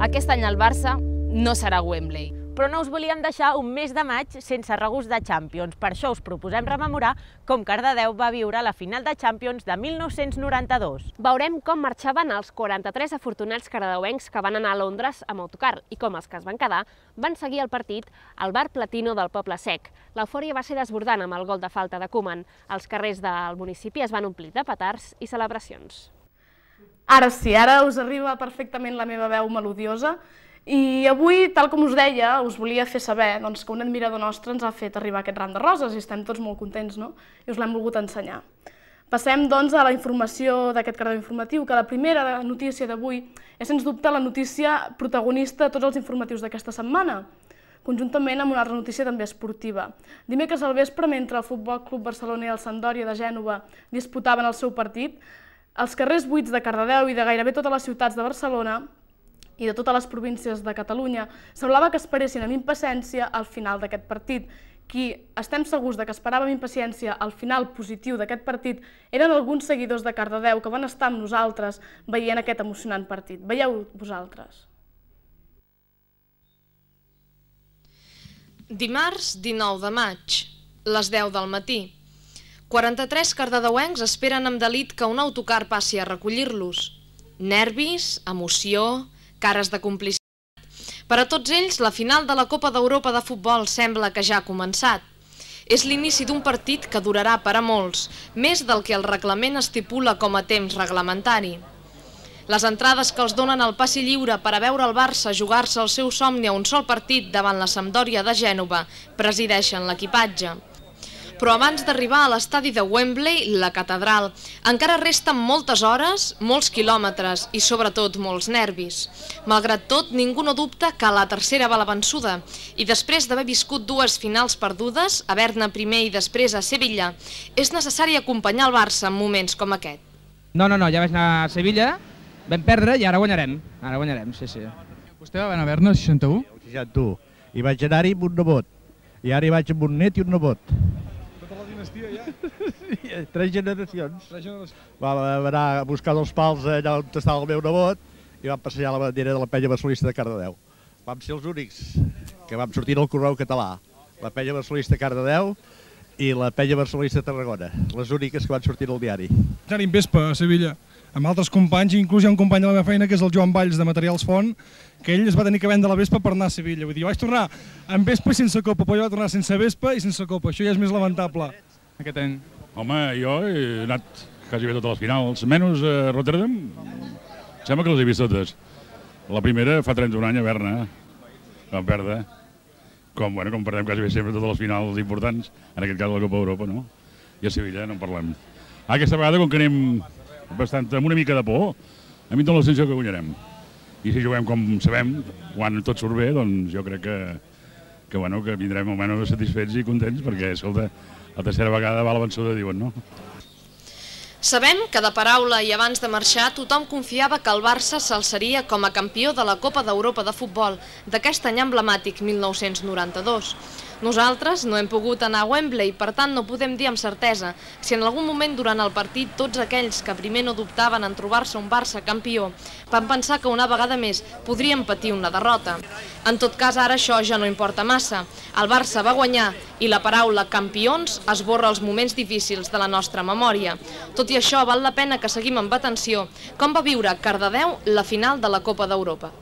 Aquest any el Barça no serà Wembley. Però no us volíem deixar un mes de maig sense regust de Champions. Per això us proposem rememorar com Cardedeu va viure la final de Champions de 1992. Veurem com marxaven els 43 afortunats cardedeuencs que van anar a Londres amb autocar i com els que es van quedar van seguir el partit al bar Platino del Poble Sec. L'eufòria va ser desbordant amb el gol de falta de Koeman. Els carrers del municipi es van omplir de petards i celebracions. Ara sí, ara us arriba perfectament la meva veu melodiosa. I avui, tal com us deia, us volia fer saber que un admirador nostre ens ha fet arribar aquest ram de roses i estem tots molt contents, no? I us l'hem volgut ensenyar. Passem, doncs, a la informació d'aquest Cardedeu Informatiu, que la primera notícia d'avui és, sens dubte, la notícia protagonista de tots els informatius d'aquesta setmana, conjuntament amb una altra notícia també esportiva. Dimecres al vespre, mentre el Futbol Club Barcelona i el Sampdoria de Gènova disputaven el seu partit, els carrers buits de Cardedeu i de gairebé totes les ciutats de Barcelona i de totes les províncies de Catalunya, semblava que esperessin amb impaciència al final d'aquest partit. Qui estem segurs que esperava amb impaciència al final positiu d'aquest partit eren alguns seguidors de Cardedeu que van estar amb nosaltres veient aquest emocionant partit. Veieu vosaltres. Dimarts 19 de maig, les 10 del matí. 43 cardedeuencs esperen amb delit que un autocar passi a recollir-los. Nervis, emoció, cares de complicitat. Per a tots ells, la final de la Copa d'Europa de futbol sembla que ja ha començat. És l'inici d'un partit que durarà per a molts, més del que el reglament estipula com a temps reglamentari. Les entrades que els donen al passi lliure per a veure el Barça jugar-se el seu somni a un sol partit davant la Sampdoria de Gènova presideixen l'equipatge. Però abans d'arribar a l'estadi de Wembley, la catedral, encara resten moltes hores, molts quilòmetres i sobretot molts nervis. Malgrat tot, ningú no dubta que la tercera va la vençuda i després d'haver viscut dues finals perdudes, a Berna primer i després a Sevilla, és necessari acompanyar el Barça en moments com aquest. No, ja vaig anar a Sevilla, vam perdre i ara guanyarem. Ara guanyarem, sí. Vostè va anar a Berna, el 61? El 61. I vaig anar-hi amb un nebot. I ara hi vaig amb un net i un nebot. Sí, 3 generacions. Vam anar a buscar els pals allà on estava el meu nebot i vam passejar la bandera de la penya barcelonista de Cardedeu. Vam ser els únics que vam sortir al Correu Català. La penya barcelonista de Cardedeu i la penya barcelonista de Tarragona. Les úniques que van sortir al diari. Anar-hi en Vespa, a Sevilla, amb altres companys, inclús hi ha un company de la meva feina que és el Joan Valls de Materials Font, que ell es va tenir que vendre la Vespa per anar a Sevilla. Vull dir, jo vaig tornar amb Vespa i sense copa, però jo vaig tornar sense Vespa i sense copa. Això ja és més lamentable. Aquest any. Home, jo he anat quasi bé totes les finals, menys a Rotterdam, sembla que les he vist totes. La primera fa 31 anys a Berna, vam perdre, com perdem quasi bé sempre totes les finals importants, en aquest cas la Copa d'Europa, no? I a Sevilla no en parlem. Aquesta vegada, com que anem amb una mica de por, a mi em dóna la sensació que guanyarem. I si juguem com sabem, quan tot surt bé, doncs jo crec que vindrem almenys satisfets i contents, perquè, escolta, la tercera vegada va la vençuda, diuen, no? Sabem que de paraula i abans de marxar tothom confiava que el Barça s'alçaria com a campió de la Copa d'Europa de futbol d'aquest any emblemàtic 1992. Nosaltres no hem pogut anar a Wembley, per tant no podem dir amb certesa si en algun moment durant el partit tots aquells que primer no dubtaven en trobar-se un Barça campió van pensar que una vegada més podrien patir una derrota. En tot cas, ara això ja no importa massa. El Barça va guanyar i la paraula campions esborra els moments difícils de la nostra memòria. Tot i això, val la pena que seguim amb atenció com va viure Cardedeu la final de la Copa d'Europa.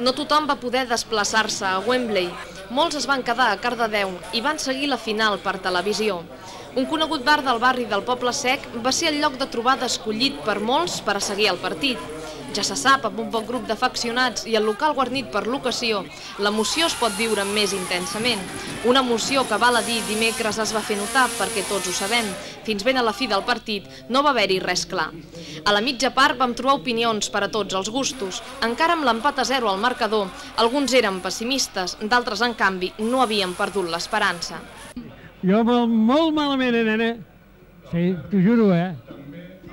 No tothom va poder desplaçar-se a Wembley. Molts es van quedar a Cardedeu i van seguir la final per televisió. Un conegut bar del barri del Poble Sec va ser el lloc de trobada escollit per molts per a seguir el partit. Ja se sap, amb un bon grup d'afeccionats i el local guarnit per l'ocasió, l'emoció es pot viure més intensament. Una emoció que, val a dir, dimecres es va fer notar, perquè tots ho sabem. Fins ben a la fi del partit no va haver-hi res clar. A la mitja part vam trobar opinions per a tots els gustos. Encara amb l'empat a 0 al marcador, alguns eren pessimistes, d'altres, en canvi, no havien perdut l'esperança. Jo molt malament, nena. Sí, t'ho juro,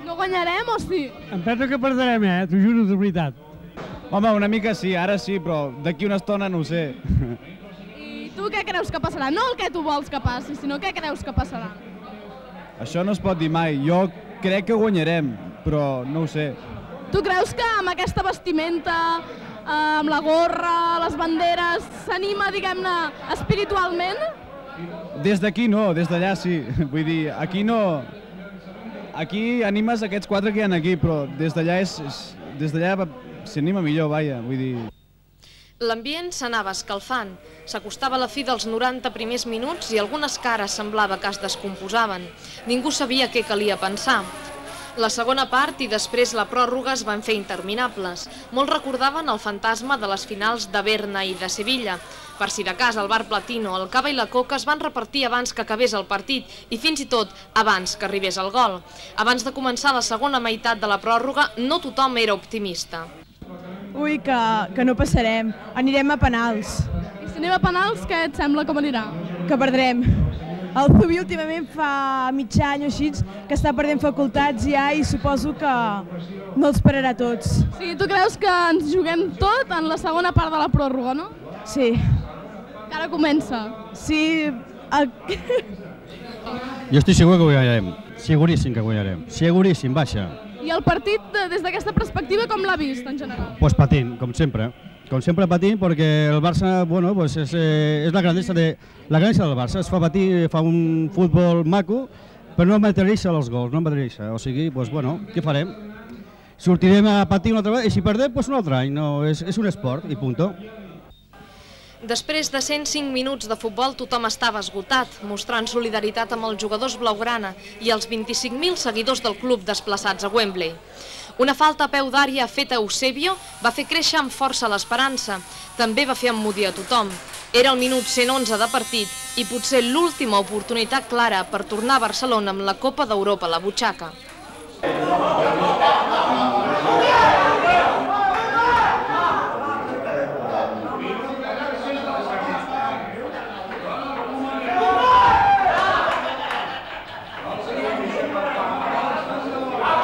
No guanyarem o sí? Em penso que perdrem, t'ho juro, de veritat. Home, una mica sí, ara sí, però d'aquí una estona no ho sé. I tu Tu què creus que passarà? No el que tu vols que passi, sinó què creus que passarà? Això no es pot dir mai. Jo crec que guanyarem, però no ho sé. Tu creus que amb aquesta vestimenta, amb la gorra, les banderes, s'anima, diguem-ne, espiritualment? Des d'aquí no, des d'allà sí. Vull dir, aquí no... Aquí animes aquests 4 que hi ha aquí, però des d'allà s'anima millor, vaja, vull dir... L'ambient s'anava escalfant. S'acostava la fi dels 90 primers minuts i algunes cares semblava que es descomposaven. Ningú sabia què calia pensar. La segona part i després la pròrroga es van fer interminables. Molts recordaven el fantasma de les finals de Berna i de Sevilla. Per si de cas, el bar Platino, el cava i la coca es van repartir abans que acabés el partit i fins i tot abans que arribés el gol. Abans de començar la segona meitat de la pròrroga, no tothom era optimista. Ui, que no passarem. Anirem a penals. I si anem a penals, què et sembla com anirà? Que perdrem. El Zubi últimament fa mig any o així que està perdent facultats ja i suposo que no els pararà tots. Sí, tu creus que ens juguem tot en la segona part de la pròrroga, no? Sí. Que ara comença. Sí. Jo estic segur que guanyarem. Seguríssim que guanyarem. Seguríssim, baixa. I el partit, des d'aquesta perspectiva, com l'ha vist, en general? Pues patint, com sempre. Com sempre patint, perquè el Barça, bueno, pues és la grandesa del Barça. Es fa patir, fa un futbol maco, però no materialitza els gols, no materialitza. O sigui, pues bueno, què farem? Sortirem a patir una altra vegada i si perdem, pues un altre any. No, és un esport i punto. Després de 105 minuts de futbol, tothom estava esgotat, mostrant solidaritat amb els jugadors blaugrana i els 25.000 seguidors del club desplaçats a Wembley. Una falta a peu d'àrea feta a Eusebio va fer créixer amb força l'esperança. També va fer emmudir a tothom. Era el minut 111 de partit i potser l'última oportunitat clara per tornar a Barcelona amb la Copa d'Europa a la butxaca.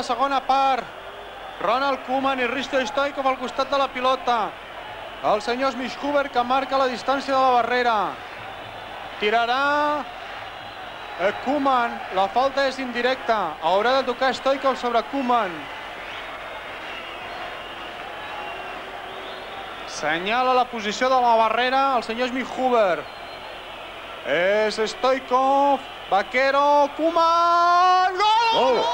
Segona part, Ronald Koeman i Risto Stoichkov al costat de la pilota. El senyor Schmidt-Huber que marca la distància de la barrera. Tirarà Koeman, la falta és indirecta. Haurà de tocar Stoichkov sobre Koeman. Senyala la posició de la barrera el senyor Schmidt-Huber. És Stoichkov, Vaquero, Koeman, gol!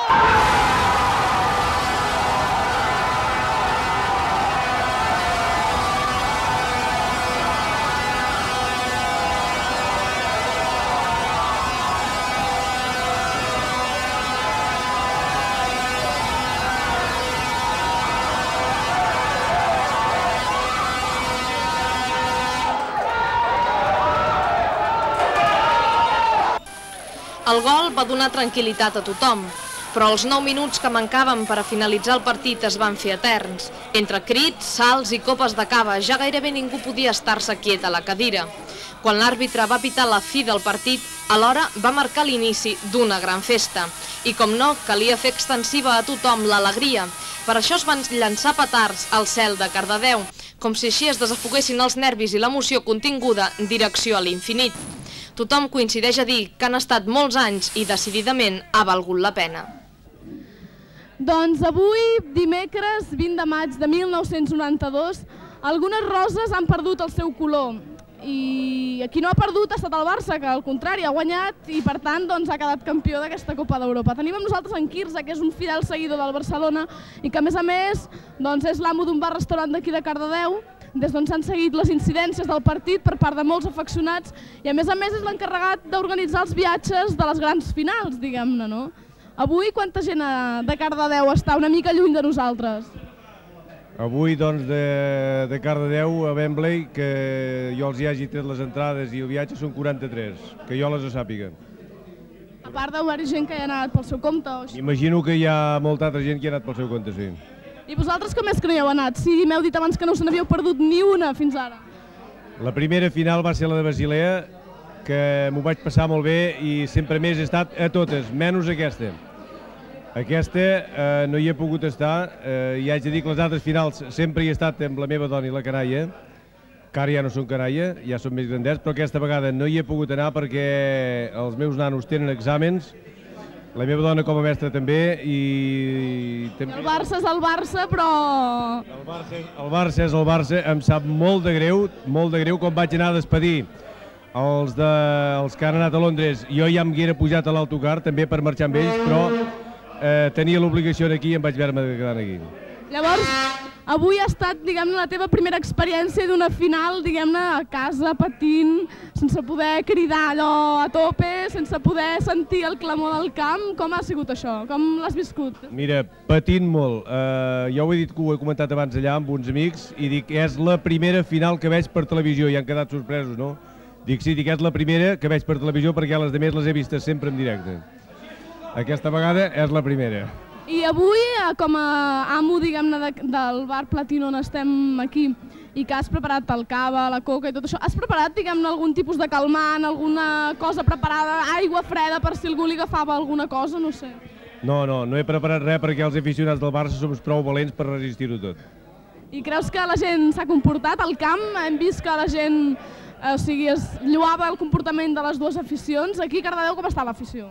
El gol va donar tranquil·litat a tothom, però els 9 minuts que mancaven per a finalitzar el partit es van fer eterns. Entre crits, salts i copes de cava, ja gairebé ningú podia estar-se quiet a la cadira. Quan l'àrbitre va pitar la fi del partit, alhora va marcar l'inici d'una gran festa. I com no, calia fer extensiva a tothom l'alegria. Per això es van llançar petards al cel de Cardedeu, com si així es desafoguessin els nervis i l'emoció continguda en direcció a l'infinit. Tothom coincideix a dir que han estat molts anys i decididament ha valgut la pena. Doncs avui, dimecres 20 de maig de 1992, algunes roses han perdut el seu color. I qui no ha perdut ha estat el Barça, que al contrari ha guanyat i per tant ha quedat campió d'aquesta Copa d'Europa. Tenim amb nosaltres en Quirze, que és un fidel seguidor del Barcelona i que a més és l'amo d'un bar-restaurant d'aquí de Cardedeu, des d'on s'han seguit les incidències del partit per part de molts afeccionats i a més és l'encarregat d'organitzar els viatges de les grans finals, diguem-ne, no? Avui quanta gent de Cardedeu està una mica lluny de nosaltres? Avui, doncs, de Cardedeu a Wembley, que jo els hi hagi tret les entrades i el viatge són 43, que jo les sàpiga. A part d'haver gent que hi ha anat pel seu compte o així? Imagino que hi ha molta altra gent que hi ha anat pel seu compte, sí. I vosaltres com és que no hi heu anat? Si m'heu dit abans que no se n'havíeu perdut ni una fins ara. La primera final va ser la de Basilea, que m'ho vaig passar molt bé i sempre més he estat a totes, menys aquesta. Aquesta no hi he pogut estar i haig de dir que les altres finals sempre hi he estat amb la meva dona i la canalla que ara ja no són canalla, ja són més grandets, però aquesta vegada no hi he pogut anar perquè els meus nanos tenen exàmens, la meva dona com a mestra també, i... El Barça és el Barça, però... El Barça és el Barça, em sap molt de greu quan vaig anar a despedir els que han anat a Londres. Jo ja em haguera pujat a l'autocar també per marxar amb ells, però tenia l'obligació aquí i em vaig veure quedant aquí. Llavors, avui ha estat, diguem-ne, la teva primera experiència d'una final, diguem-ne, a casa, patint, sense poder cridar allò a tope, sense poder sentir el clamor del camp. Com ha sigut això? Com l'has viscut? Mira, patint molt. Jo ho he dit, que ho he comentat abans allà amb uns amics, i dic, és la primera final que veig per televisió, i han quedat sorpresos, no? Dic, sí, és la primera que veig per televisió perquè les altres les he vistes sempre en directe. Aquesta vegada és la primera. I avui, com a amo, diguem-ne, del bar Platino on estem aquí, i que has preparat el cava, la coca i tot això, has preparat, diguem-ne, algun tipus de calmant, alguna cosa preparada, aigua freda per si algú li agafava alguna cosa, no sé? No he preparat res perquè els aficionats del Barça som prou valents per resistir-ho tot. I creus que la gent s'ha comportat al camp? Hem vist que la gent, es lloava el comportament de les dues aficions. Aquí a Cardedeu com està l'afició?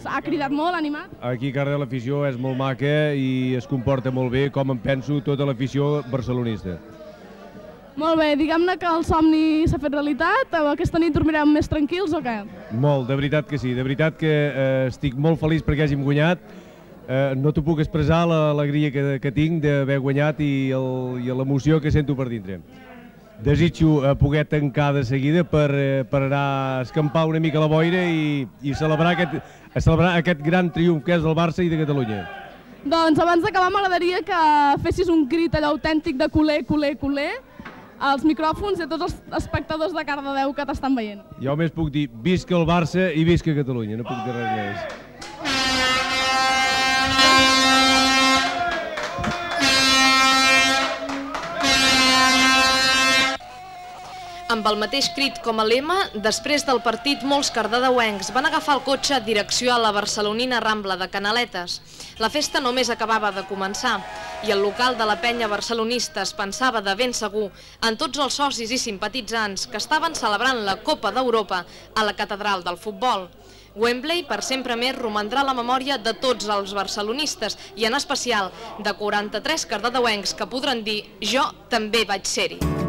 Ha cridat molt, animat? Aquí a Cardedeu l'afició és molt maca i es comporta molt bé, com em penso tota l'afició barcelonista. Molt bé, diguem-ne que el somni s'ha fet realitat. Aquesta nit dormirem més tranquils o què? Molt, de veritat que sí. De veritat que estic molt feliç perquè hàgim guanyat. No t'ho puc expressar l'alegria que tinc d'haver guanyat i l'emoció que sento per dintre. Desitjo poder tancar de seguida per anar a escampar una mica la boira i celebrar aquest gran triomf que és del Barça i de Catalunya. Doncs abans d'acabar m'agradaria que fessis un crit allò autèntic de culer, culer, culer als micròfons i a tots els espectadors de Cardedeu que t'estan veient. Jo només puc dir visca el Barça i visca Catalunya, no puc dir res més. Amb el mateix crit com a lema, després del partit molts cardedeuencs van agafar el cotxe a direcció a la barcelonina Rambla de Canaletes. La festa només acabava de començar i el local de la penya barcelonista es pensava de ben segur en tots els socis i simpatitzants que estaven celebrant la Copa d'Europa a la catedral del futbol. Wembley per sempre més romandrà a la memòria de tots els barcelonistes i en especial de 43 cardedeuencs que podran dir «Jo també vaig ser-hi».